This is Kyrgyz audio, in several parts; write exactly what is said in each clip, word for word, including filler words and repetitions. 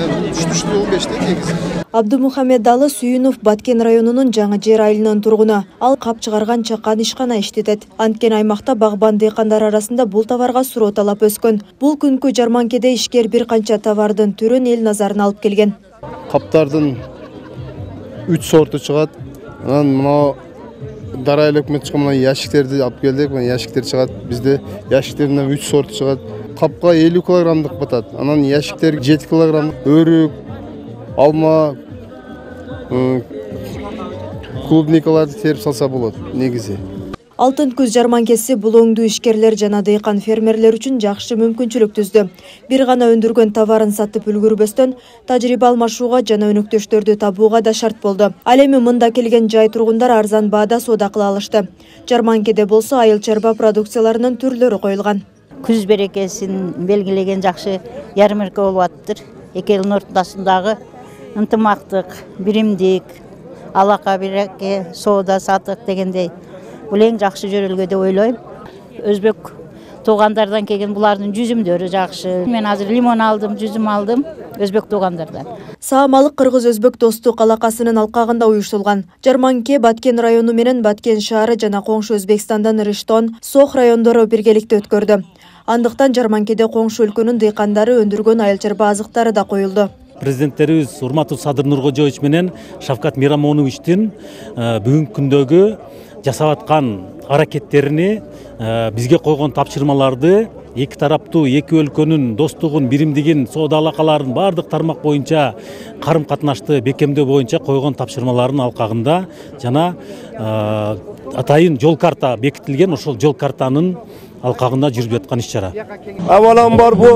Түштү он беште негизи. Абдумухамедалы Сүйүнов Баткен районунун Жаңы Жер айылынын тургуну. Ал кап чыгарган чакан ишкана иштетет. Анткени аймакта багбан дыйкандар арасында бул товарга суроо талап өскөн. Бул күнкү жарманкеде ишкер бир канча товардын түрүн эл назарына алып келген. Каптардын үч сорту чыгат. Анан мына дарай өкмөт чыккан мына ящиктерди алып келдик. Мына ящиктер чыгат. Бизде ящиктерден үч сорту чыгат. Капка элүү килограммдык батат. Анан ящиктер жети килограммдык. Өрүк, алма, клубникаларды терип салса болот негизи. Алтын күз жарманкеси бул оңдуу ишкерлер жана дыйкан фермерлер үчүн жакшы мүмкүнчүлүк түздү. Бир гана өндүргөн товарын сатып үлгүрбөстөн тажрыйба алмашууга жана өнөктөштөрдү табууга да шарт болду. Ал эми мында келген жай тургундар арзан баада соода кыла алышты. Жарманкеде болсо айыл чарба продукцияларынын түрлөрү коюлган. Күз берекесин белгилеген жакшы ярмарка болуп атыптыр. Эки элдин ортосундагы ынтымактык, биримдик, алака береке, соода сатык дегендей бул эң жакшы жөрөлгө деп ойлойм. Өзбек туугандардан келген булардын жүзүмдөрү жакшы. Мен азыр лимон алдым, жүзүм алдым өзбек туугандардан. Саамалык кыргыз-өзбек достук алакасынын алкагында уюштурулган. Жарманке Баткен району менен Баткен шаары жана коңшу Өзбекстандан Риштон, Сох райондору биргеликте өткөрдү. Андыктан жарманкеде коңшу өлкөнүн дыйкандары өндүргөн айыл чарба азыктары да коюлду. Президенттерибиз урматтуу Садыр Нуркожоевич менен Шавкат Мирамоновичтин бүгүнкү күндөгү жасап аткан аракеттерини, бизге койгон тапшырмаларды, эки тараптуу эки өлкөнүн достугун, биримдигин, соода алакаларын бардык тармак боюнча карым катнашты бекемдөө боюнча койгон тапшырмаларынын алкагында жана атайын жол карта бекитилген, ошол жол картанын алкагында жүрүп жаткан иш-чара. Аваламбар бу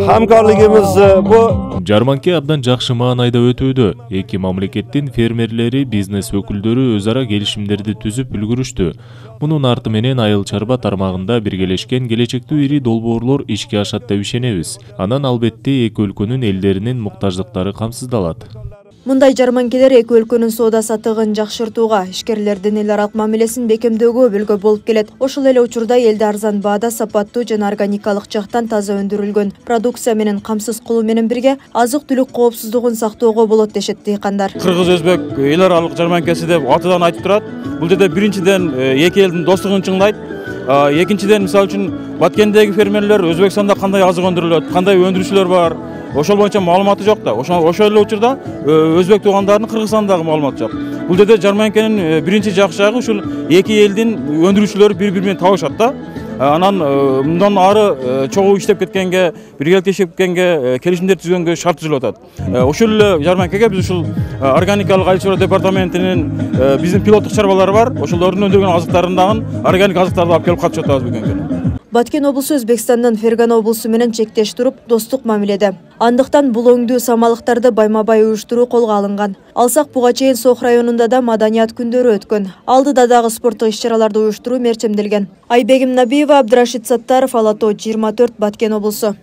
хамкарлыгыбыз бу жарманке абдан жакшы маанайда өтүүдө. Эки мамлекеттин фермерлери, бизнес өкүлдөрү өз ара келишимдерди түзүп үлгүрүштү. Мунун арты менен айыл чарба тармагында биргелешкен келечектүү ири долбоорлор ишке ашат деп ишенебиз. Анан албетте эки өлкөнүн элдеринин муктаждыктары камсыздалат. Мындай жарманкелер эки өлкөнүн соода саттыгын жакшыртууга, ишкерлердин эл аралык мамилесин бекемдөөгө өбөлгө болуп келет. Ошол эле учурда элде арзан баада сапаттуу жана органикалык жактан таза өндүрүлгөн продукция менен камсыз кылуу менен бирге азык-түлүк коопсуздугун сактоого болот дешет дыйкандар. Кыргыз-өзбек эл аралык жарманкеси деп атадан айтып турат. Бул жерде биринчиден эки элдин достугун чыңдайт. Экинчиден мисалы үчүн Баткендеги фермерлер Өзбекстанда кандай азык өндүрүлөт, кандай өндүрүүчүлөр бар, ошол боюнча маалыматы жок да. Ошол ошол эле учурда өзбек туугандарынын Кыргызстандагы маалыматы жок. Бул жерде жарманкенин биринчи жакшы жагы ушул эки элдин өндүрүүчүлөрү бири-бири менен табышат да. Анан мындан ары чогуу иштеп кеткенге, биргеликте иштеп кеткенге, келишимдер түзгөнгө шарт түзүлүп атат. Ошол эле жарманкеге биз ушул органикалык айыл чарба департаментинин биздин пилоттук чарбалары бар. Ошолордун өндүргөн азыктарын дагы органик азыктарды алып келип катышып атабыз бүгүнкү күнү. Баткен облусу Өзбекстандан Фергана облусу менен чектеш туруп, достук мамиледе. Андыктан бул оңдуу самалыктарды байма-бай уюштуруу колго алынган. Алсак буга чейин Сох районунда да маданият күндөрү өткөн. Алдыда дагы спорттук иш-чараларды уюштуруу мерчемделген. Айбегим Набиева, Абдрашид Саттаров, Ала Тоо жыйырма төрт, Баткен облусу.